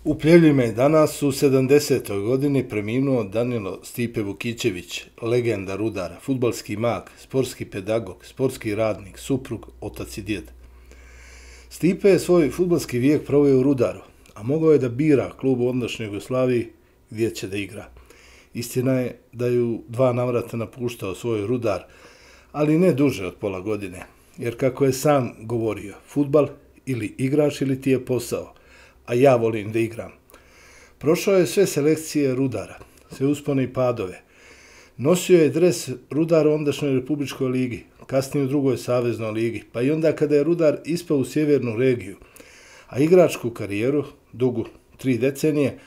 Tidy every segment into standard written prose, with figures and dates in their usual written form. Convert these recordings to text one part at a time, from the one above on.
U Pljevljima je danas u 70. godini preminuo Danilo Stipe Vukićević, legenda Rudara, fudbalski mag, sportski pedagog, sportski radnik, suprug, otac i djed. Stipe je svoj fudbalski vijek proveo u Rudaru, a mogao je da bira klub u ondašnjoj Jugoslaviji gdje će da igra. Istina je da je u 2 navrata napuštao svoj Rudar, ali ne duže od pola godine, jer kako je sam govorio, fudbal ili igraš ili ti je posao, a ja volim da igram. Prošao je sve selekcije Rudara, sve uspone i padove. Nosio je dres Rudara u ondašnjoj Republičkoj ligi, kasnije u drugoj saveznoj ligi, pa i onda kada je Rudar ispao u sjevernu regiju, a igračku karijeru, dugu 3 decenije,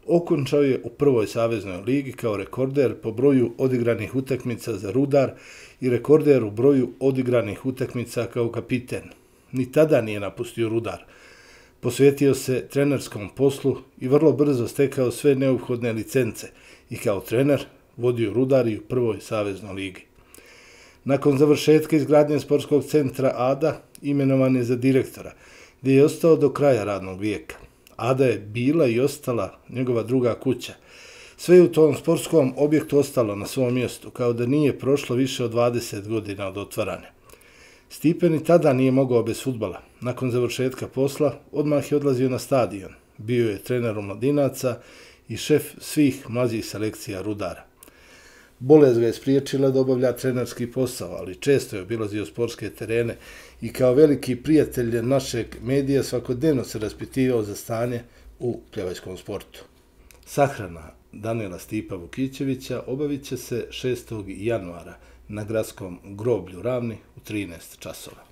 okončao je u prvoj saveznoj ligi kao rekorder po broju odigranih utakmica za Rudar i rekorder u broju odigranih utakmica kao kapiten. Ni tada nije napustio Rudar. Posvetio se trenerskom poslu i vrlo brzo stekao sve neophodne licence i kao trener vodio Rudar i u prvoj saveznoj ligi. Nakon završetka izgradnje sportskog centra Ada imenovan je za direktora, gdje je ostao do kraja radnog vijeka. Ada je bila i ostala njegova druga kuća. Sve je u tom sportskom objektu ostalo na svom mjestu, kao da nije prošlo više od 20 godina od otvaranja. Stipe ni tada nije mogao bez fudbala. Nakon završetka posla, odmah je odlazio na stadion. Bio je trener omladinaca i šef svih mlađih selekcija Rudara. Bolest ga je spriječila da obavlja trenerski posao, ali često je obilazio sportske terene i kao veliki prijatelj našeg medija svakodnevno se raspitivao za stanje u pljevačkom sportu. Sahrana Danila Stipa Vukićevića obavit će se 6. januara na gradskom groblju Ravni u 13 časova.